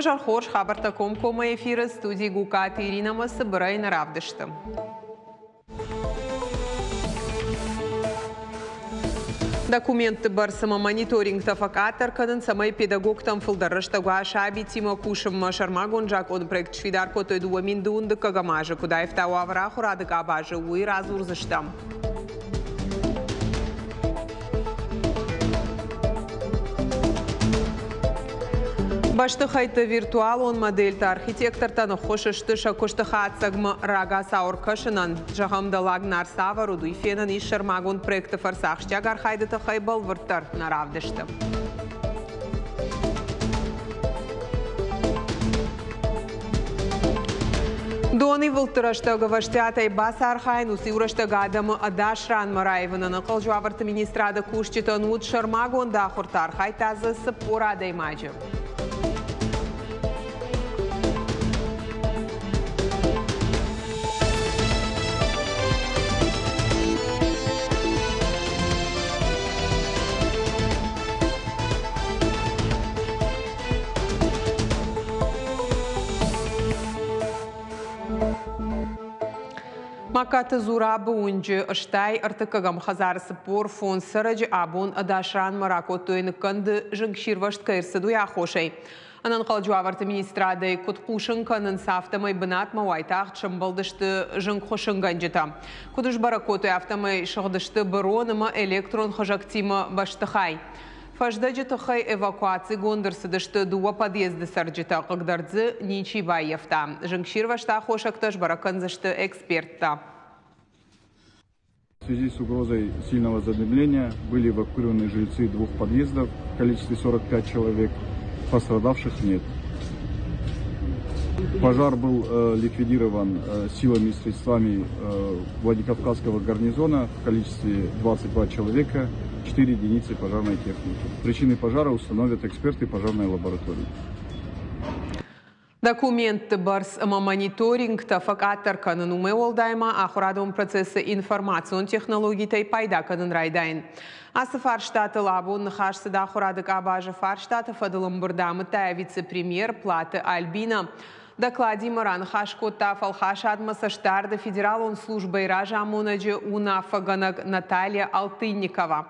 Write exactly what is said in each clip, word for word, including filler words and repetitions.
Уӕ хорз, хабӕрттӕ комкоммӕ эфиры, студийы Гукъаты Иринӕ, цыбырӕй нӕ равдысты. Документты бӕрц ӕмӕ мониторингтӕ фӕкъаддӕр кӕнын, цӕмӕй педагогтӕн фылдӕр рӕстӕг уа сабитимӕ кусынмӕ. Сӕрмагонд закъоны проект сфидар кодтой дыууӕ мин дыууын дыккӕгӕм азы. Куыд аивта уавӕр ахуырады къабазы, уый радзурдзыстӕм. Бӕстыхӕйтты виртуалон модельтӕ архитектортӕн ӕххуыс сты сӕ куысты хатдзӕгмӕ рагацау ӕркӕсынӕн. Зӕгъӕм, Дӕллаг Нар цавӕр уыд, уый фенӕн ис сӕрмагонд проекты фӕрцы. Ахсджиаг архайды тыххӕй бӕлвырддӕр нӕ равдысты. Донивылдты рӕстӕг ӕвӕстиатӕй бацархайын, уыцы иу рӕстӕг адӕмы ӕдас ранмӕ раивын. Ӕнӕнхъӕлджы уавӕрты министрады кусджытӕн уыд сӕрмагонд ахуыртӕ, архайдта дзы цыппор адӕймаджы. Магкаты Зурабы уынджы стай ӕртыккӕгӕм хӕдзары цыппор фондз цӕрӕджы абон ӕдас ранмӕ ракодтой ныккӕнды зынгсирвӕзт кӕй ӕрцыд, уый аххосӕй. Ӕнӕнхъӕлджы уавӕрты министрадӕй куыд хъусын кӕнынц, афтӕмӕй бынатмӕ уайтагъд сӕмбӕлдысты зынгхуыссынгӕнджытӕ. Куыд сбӕрӕг кодтой, афтӕмӕй сыгъдысты бырон ӕмӕ электрон хызӕгтимӕ бӕстыхай. Фӕздӕджы тыххӕй эвакуацигонд ӕрцыдысты дыууӕ подъезды цӕрджытӕ, хъыгдард дзы ничи баййӕфта. Зынгсирвӕзты аххосӕгтӕ сбӕрӕг кӕндзысты эксперттӕ. В связи с угрозой сильного задымления были эвакуированы жильцы двух подъездов в количестве сорок пять человек. Пострадавших нет. Пожар был э, ликвидирован э, силами и средствами э, Владикавказского гарнизона в количестве двадцать два человека, четыре единицы пожарной техники. Причины пожара установят эксперты пожарной лаборатории. Документты бӕрц ӕмӕ мониторингтӕ фӕкъаддӕр кӕнын, уымӕй уӕлдай ма ахуырадон процессы информацион технологитӕй пайда кӕнын райдайын. Ацы фарстатыл абон ныхас цыд ахуырады къабазы фарстаты фӕдыл ӕмбырды, амыдта вице-премьер Платы Альбина. Докладимӕ раныхас кодта фӕлхасадмӕ цӕстдарды федералон службӕйы разамонӕджы уынаффӕгӕнӕг Наталья Алтынникова.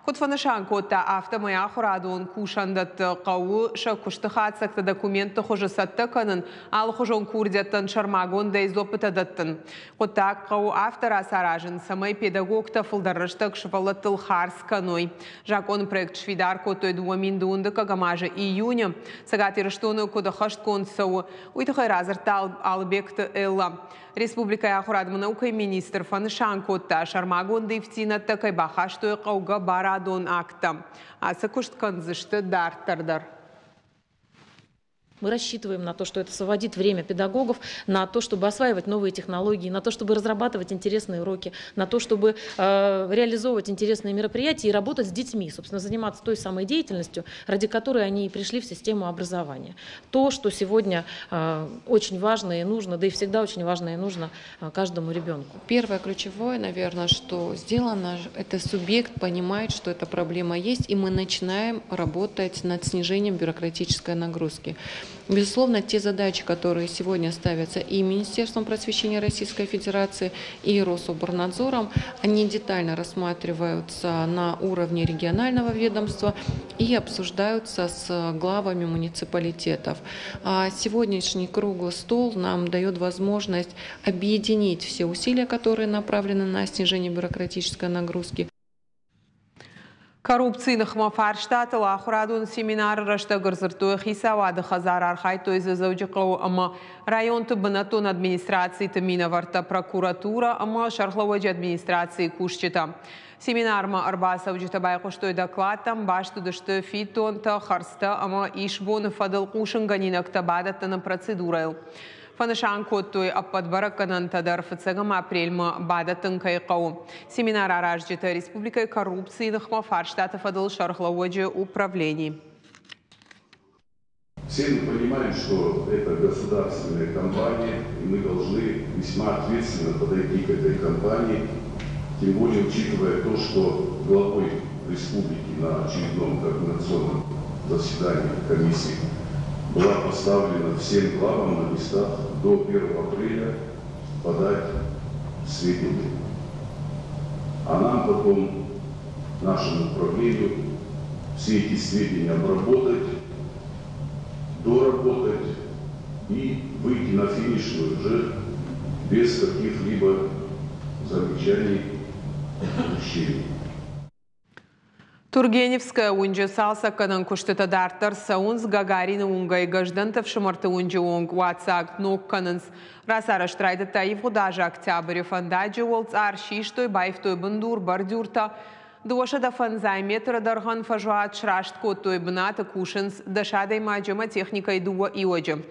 Куыд фӕнысан кодта, афтӕмӕй ахуырадон кусӕндӕтты хъӕуы сӕ куысты хатдзӕгты документты хуызы цӕттӕ кӕнын, алыхуызон курдиӕттӕн сӕрмагондӕй дзуаппытӕ дӕттын. Хъуыддаг хъӕуы афтӕ рацаразын, цӕмӕй педагогтӕ фылдӕр рӕстӕг сывӕллӕттыл хардз кӕной. Закъоны проект сфидар кодтой дыууӕ мин дыууын дыккӕгӕм азы июны. Цӕгат Ирыстоны куыд ӕххӕстгонд цӕуы, уый тыххӕй радзырдта Алыбегты Элла. Республикӕйы ахуырад ӕмӕ наукӕйы министр фӕнысан кодта, сӕрмагонд ивддзинӕдтӕ кӕй бахастой хъӕугӕ барадон акттӕ. Ацы куыст кӕндзысты дарддӕр дӕр. Мы рассчитываем на то, что это освободит время педагогов на то, чтобы осваивать новые технологии, на то, чтобы разрабатывать интересные уроки, на то, чтобы э, реализовывать интересные мероприятия и работать с детьми, собственно, заниматься той самой деятельностью, ради которой они и пришли в систему образования. То, что сегодня э, очень важно и нужно, да и всегда очень важно и нужно э, каждому ребенку. Первое ключевое, наверное, что сделано, это субъект понимает, что эта проблема есть, и мы начинаем работать над снижением бюрократической нагрузки. Безусловно, те задачи, которые сегодня ставятся и Министерством просвещения Российской Федерации, и Рособрнадзором, они детально рассматриваются на уровне регионального ведомства и обсуждаются с главами муниципалитетов. А сегодняшний круглый стол нам дает возможность объединить все усилия, которые направлены на снижение бюрократической нагрузки. Коррупцийы ныхмӕ фарстатыл ахуырадон семинары рӕстӕг ӕрдзырдтой хицауады хӕдзары, архайдтой дзы Дзӕуджыхъӕуы ӕмӕ районты бынӕттон администрациты минӕвӕрттӕ, прокуратура ӕмӕ сӕргълӕууӕджы администрацийы кусджытӕ. Семинармӕ ӕрбацӕуджытӕ байхъуыстой докладтӕм, баст уыдысты фиддонтӕ, хӕрдзтӕ ӕмӕ исбоны фӕдыл хъусынгӕнинӕгтӕ бадӕттыны процедурӕйыл. Фӕнысан кодтой, ӕппӕт бӕрӕггӕнӕнтӕ дӕр фыццӕгӕм апрельмӕ бадӕттын кӕй хъӕуы. Семинар аразджытӕ республикӕйы коррупцийы ныхмӕ фарстаты фӕдыл сӕргълӕууӕджы управлени. Все мы понимаем, что это государственная компания, и мы должны весьма ответственно подойти к этой компании, тем более учитывая то, что главой республики на очередном координационном заседании комиссии была поставлена всем главам на местах до первого апреля подать сведения. А нам потом, нашему управлению, все эти сведения обработать, доработать и выйти на финишную уже без каких-либо замечаний, упущений. Тургеневская уынджы цалцӕггӕнӕн куыстытӕ дарддӕр цӕуынц. Гагарины уынгӕй Гӕздӕнты ӕфсымӕрты уынджы онг уаццаг ног кӕнынц. Рацарӕзт райдыдта ивгъуыд азы октябры. Фӕндаджы уӕлцъар систой, баивтой бындур, бордюртӕ. Дыууӕсӕдӕ фӕндзай метры дӕргъӕн фӕзуат сраст кодтой. Бынаты кусынц дӕс адӕймаджы ӕмӕ техникӕйы дыууӕ иуӕджы.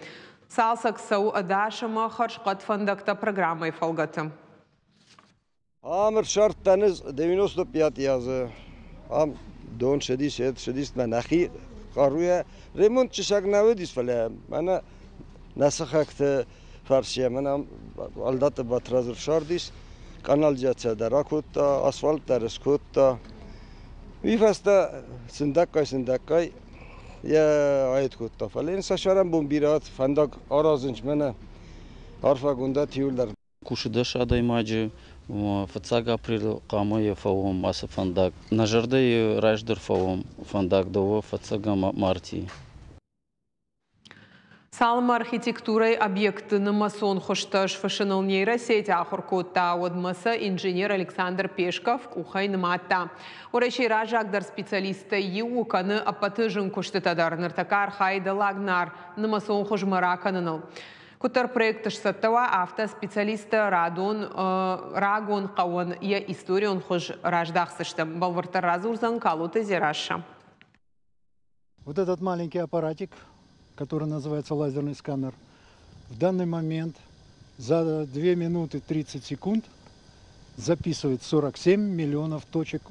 Цалцӕг цӕуы ӕдас ӕмӕ хӕрзхъӕд фӕндӕгтӕ программӕйы фӕлгӕты. Ам ӕрсардтан девяносто пять азы. Ам дон цыдис, цыдис мӕ нӕхи хъаруйӕ ремонт чысаг нӕ уыдис, фӕлӕ мӕнӕ нӕ сыхӕгты фӕрцы мӕнӕ Алдаты Батрадз ӕрсардис, къанализаци дӕр акодта, асфальт дӕр скодта. Уый фӕстӕ сындӕггай-сындӕггай йӕ аид кодта. Фӕлӕ йын сӕ сӕрӕнбон бирӕ фӕндаг аразынц мӕнӕ арфӕгонд иуылдӕр. Кусы дӕс адӕймаджы, фыццаг апрелы хъуамӕ йӕ фӕуӕм ацы фӕндаг. Нӕ зӕрдӕйы раздӕр фӕуӕм фӕндаг дыууӕ фӕццӕгӕм мартъийы. Цалынмӕ архитектурӕйы объектты нымӕцон хуызтӕ сфыссыныл нейросеть ахуыр кодта, уӕдмӕ сӕ инженер Александр Пешков къухӕй нымадта. Уӕрӕсейы раззагдӕр специалисттӕй иу кӕны ӕппӕты зын куыстытӕ дӕр. Ныртӕккӕ архайы Дӕллаг Нар нымӕцон хуызмӕ ракӕныныл. Куыддӕр проект сцӕттӕ уа, афтӕ специалисттӕ радон рагон хъӕуӕн йӕ историон хуыз раздахдзысты. Бӕлвырддӕр радзурдзӕн Калоты Дзерассӕ. Вот этот маленький аппаратик, который называется лазерный сканер, в данный момент за две минуты тридцать секунд записывает сорок семь миллионов точек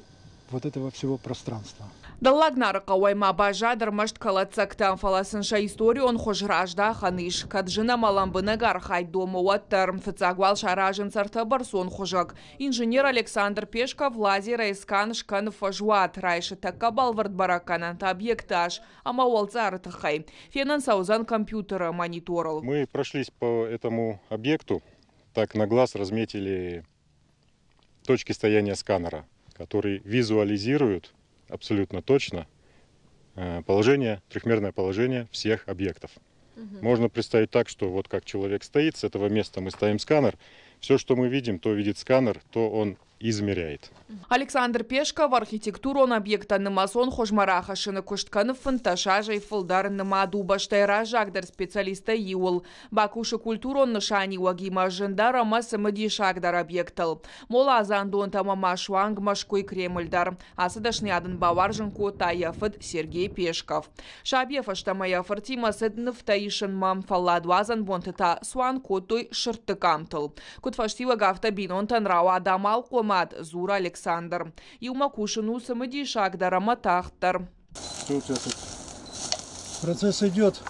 вот этого всего пространства. Дӕллаг Нары хъӕуӕй ма баззад ӕрмӕст кӕлӕддзӕгтӕ, фӕлӕ сын сӕ историон хуыз раздахӕн ис. Кӕд зын ӕмӕ лӕмбынӕг архайд домы, уӕддӕр. Фыццаг уал саразынц ӕртӕбӕрцон хуызӕг. Инженер Александр Пешков лазерӕй скан скӕны фӕзуат, райсы тӕккӕ бӕлвырд бӕрӕггӕнӕнтӕ объекты ас ӕмӕ уӕлцъары тыххӕй. Фенӕн сӕ уыдзӕн компьютеры мониторыл. Мы прошлись по этому объекту, так на глаз разметили точки стояния сканера, который визуализирует абсолютно точно положение, трехмерное положение всех объектов. Угу. Можно представить так, что вот как человек стоит, с этого места мы ставим сканер, все, что мы видим, то видит сканер, то он измеряет. Александр Пешков архитектурон объекттӕ нымӕцон хуызмӕ рахӕссыны куыст кӕны фынддӕс азӕй фылдӕр. Нымад у бӕстӕйы раззагдӕр специалисттӕй иуыл. Бакусы культурон нысаниуӕгимӕ зындӕр ӕмӕ цымыдисагдӕр объекттыл. Моладзандонтӕ ӕмӕ ма суанг Мӕскуыйы Кремль дӕр. Ацы дӕсныйад ын бауарзын кодта йӕ фыд Сергей Пешков. Сабийӕ фӕстӕмӕ йӕ фыртимӕ цыд нывтӕ исынмӕ, фӕлладуадзӕн бонты та цуан кодтой сырдты къамтыл. Куыд фӕстиуӕг, афтӕ бинонтӕн рауад амалхъомад, дзуры Александр. Иумӕ кусын у цымыдисагдӕр ӕмӕ тагъддӕр. Что у тебя тут? Процесс идет.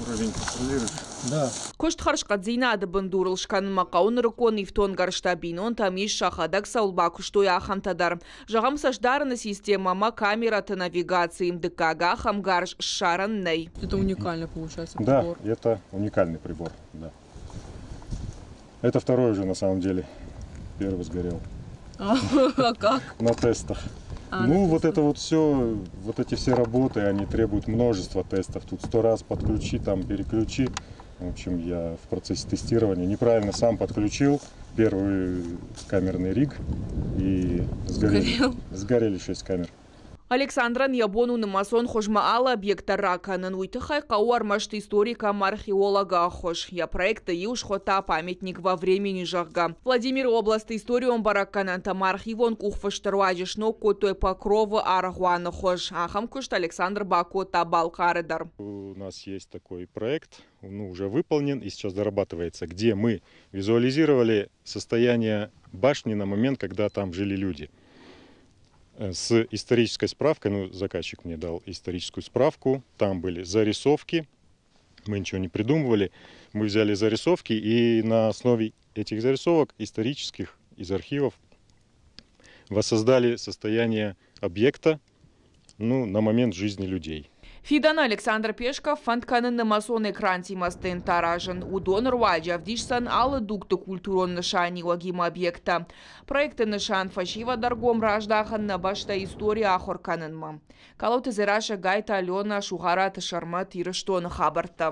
Уровень контролируешь? Да. Куыст хӕрзхъӕддзинады бындурыл скӕнынмӕ хъӕуы нырыккон ифтонггӕрзтӕ. Бинонтӕм ис, сӕхӕдӕг цӕуыл бакуыстой, ахӕмтӕ дӕр. Зӕгъӕм, цӕстдарыны системӕ ӕмӕ камерӕты навигаци. Дыккаг ахӕм гарз ссарӕн нӕй. Это уникальный получается прибор. Да, это уникальный прибор. Да. Это второй уже на самом деле. Первый сгорел. А, как? На тестах. А, ну, на вот тестах. это вот все, вот эти все работы, они требуют множества тестов. Тут сто раз подключи, там переключи. В общем, я в процессе тестирования неправильно сам подключил первый камерный риг и сгорели, Сгорел. сгорели шесть камер. Александрӕн йӕ бон у нымӕцон хуызмӕ алы объект дӕр ракӕнын. Уый тыххӕй хъӕуы ӕрмӕст историк ӕмӕ археологы ӕххуыс. Йӕ проекты иу схуыдта «Памятник во времени», зӕгъгӕ. Владимиры областы историон бӕрӕггӕнӕнтӕ ӕмӕ архивон къухфысты руаджы сног кодтой Покровы аргъуаны хуыз. Ахӕм куыст Александр бакодта Балхъары дӕр. У нас есть такой проект, ну, уже выполнен и сейчас дорабатывается, где мы визуализировали состояние башни на момент, когда там жили люди. С исторической справкой, ну, заказчик мне дал историческую справку, там были зарисовки, мы ничего не придумывали, мы взяли зарисовки и на основе этих зарисовок исторических из архивов воссоздали состояние объекта, ну, на момент жизни людей. Фидӕны Александр Пешков фӕнд кӕны нымӕцон экрантимӕ стенд аразын. Уыдоны руаджы ӕвдисдзӕн алы дугты культурон нысаниуӕгимӕ объекттӕ. Проекты нысан фӕсивӕды ӕргом раздахын нӕ бӕстӕйы истори ахуыр кӕнынмӕ. Калоты Дзерассӕ, Гайты Алена, Сугъараты Сӕрмӕт, Ирыстоны хабӕрттӕ.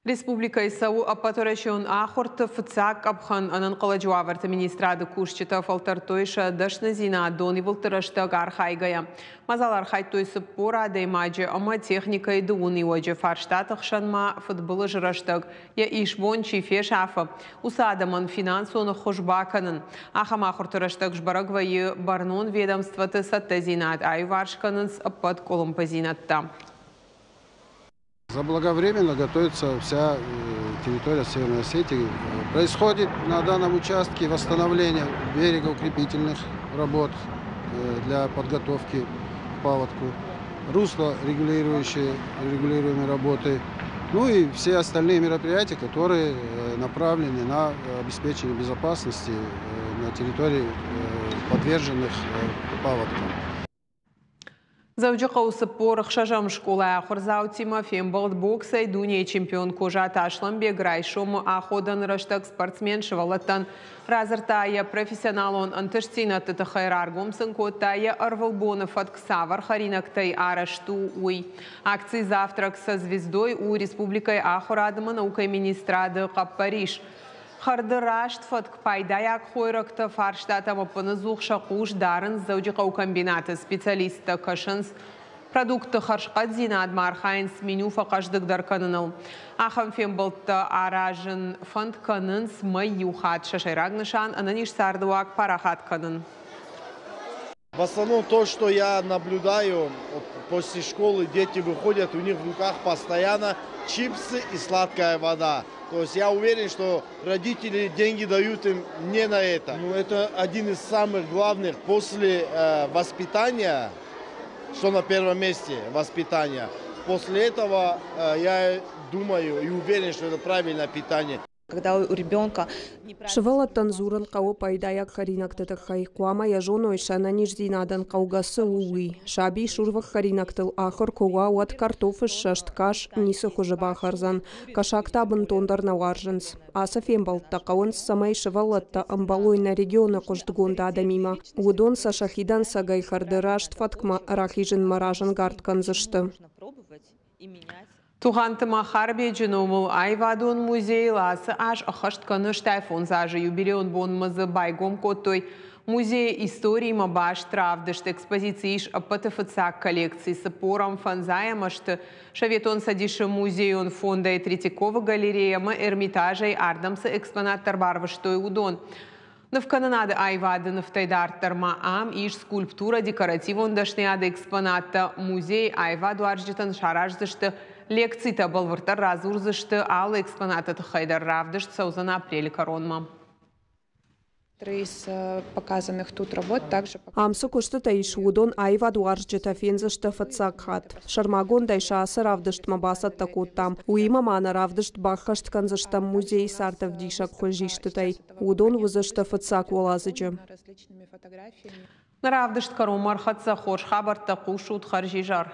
Республикӕйы цӕуы ӕппӕтуӕрӕсеон ахуырты фыццаг къӕпхӕн. Ӕнӕнхъӕлӕджы уавӕрты министрады кусджытӕ фӕлтӕрдтой сӕ дӕсныдзинад донивылдты рӕстӕг архайгӕйӕ. Мадзалы архайдтой цыппор адӕймаджы ӕмӕ техникӕйы дыууын иуӕджы. Фарстаты хсӕн ма фыдбылызы рӕстӕг йӕ исбон чи фесафы, уыцы адӕмӕн финансон ӕххуыс бакӕнын. Ахӕм ахуырты рӕстӕг сбӕрӕг вӕййы бӕрнон ведомствоты цӕттӕдзинад, аиуварс кӕнынц ӕппӕт къуылымпыдзинӕдтӕ. Заблаговременно готовится вся территория Северной Осетии. Происходит на данном участке восстановление берегоукрепительных работ для подготовки к паводку, русло регулирующие, регулируемые работы, ну и все остальные мероприятия, которые направлены на обеспечение безопасности на территории, подверженных паводкам. Дзӕуджыхъӕуы цыппор ӕхсӕзӕм скъолайы ахуырдзаутимӕ фембӕлд боксӕй дунейы чемпион Козаты Аслӕнбег. Райсомы аходӕны рӕстӕг спортсмен сывӕллӕттӕн радзырдта йӕ профессионалон ӕнтыстдзинӕдты тыххӕй, раргом сын кодта йӕ ӕрвылбоны фӕтк цавӕр хӕринӕгтӕй арӕзт у, уый. Акци «Завтрак со звездой» у республикӕйы ахуырад ӕмӕ наукӕйы министрады хъӕппӕрис. Хӕрды раст фӕтк, пайдайаг хойрӕгтӕ фарстатӕм ӕппынӕдзух сӕ хъус дарынц Дзӕуджыхъӕуы комбинаты специалисттӕ, кӕсынц продуктты хӕрзхъӕддзинадмӕ, архайынц меню фӕхъӕздыгдӕр кӕныныл. Ахӕм фембӕлдтӕ аразын фӕнд кӕнынц мӕй иу хатт. Сӕ сӕйраг нысан ӕнӕниз цардыуаг парахат кӕнын. В основном то, что я наблюдаю, вот после школы дети выходят, у них в руках постоянно чипсы и сладкая вода. То есть я уверен, что родители деньги дают им не на это. Ну, это один из самых главных после э, воспитания, что на первом месте воспитание. После этого э, я думаю и уверен, что это правильное питание. Когда у ребенка Сывӕллӕттӕн дзурын хъӕуы пайдайаг хӕринӕгты тыххӕй, хъуамӕ йӕ зоной, сӕ ӕнӕниздзинадӕн хъӕугӕ цы у, уый. Саби сурвых хӕринӕгтыл ахуыр куы уа, уӕд картофы ссӕст кас ницы хуызы бахӕрдзӕн. Кӕсаг та бынтондӕр нӕ уарзынц. Ацы фембӕлдтӕ хъӕуынц, цӕмӕй сывӕллӕттӕ ӕмбӕлой нӕ регионы хъуыстгонд адӕмимӕ. Уыдон сӕ сӕхи дӕнцӕгӕй хӕрды раст фӕткмӕ рахизынмӕ разӕнгард кӕндзысты. Тугъанты Махарбеджы номыл аивадон музейыл ацы аз ӕххӕст кӕны стай фондз азы. Юбилейон бонмӕ дзы байгом кодтой музейы историимӕ баст равдыст. Экспозицийы ис ӕппӕты фыццаг коллекци цыппорӕм фӕндзайӕм азты Советон Цӕдисы музейон фондӕй, Третьяковы галерея ӕмӕ Эрмитажӕй ардӕм цы экспонаттӕ ӕрбарвыстой, уыдон. Нывкӕнынады аивады нывтӕй дарддӕр ма ам ис скульптура, декоративон дӕсныйады экспонаттӕ. Музейы аивадуарзджытӕн сараздзысты лекцитӕ, бӕлвырддӕр радзурдзысты алы экспонаты тыххӕй дӕр. Равдыст цӕудзӕн апрелы кӕронмӕ. Из показанных тут работ также Ам цы куыстытӕ ис, уыдон аивадуарзджытӕ фендзысты фыццаг хатт. Сӕрмагондӕй сӕ ацы равдыстмӕ бацӕттӕ кодтам. Уыимӕ ма нӕ равдыст баххӕст кӕндзыстӕм музейы цардӕвдисӕг хуызистытӕй. Уыдон уыдзысты фыццаг уӕладзыджы. Нӕ равдыст кӕронмӕ ӕрхӕццӕ. Хорз хабӕрттӕ хъусут, хӕрзизӕр.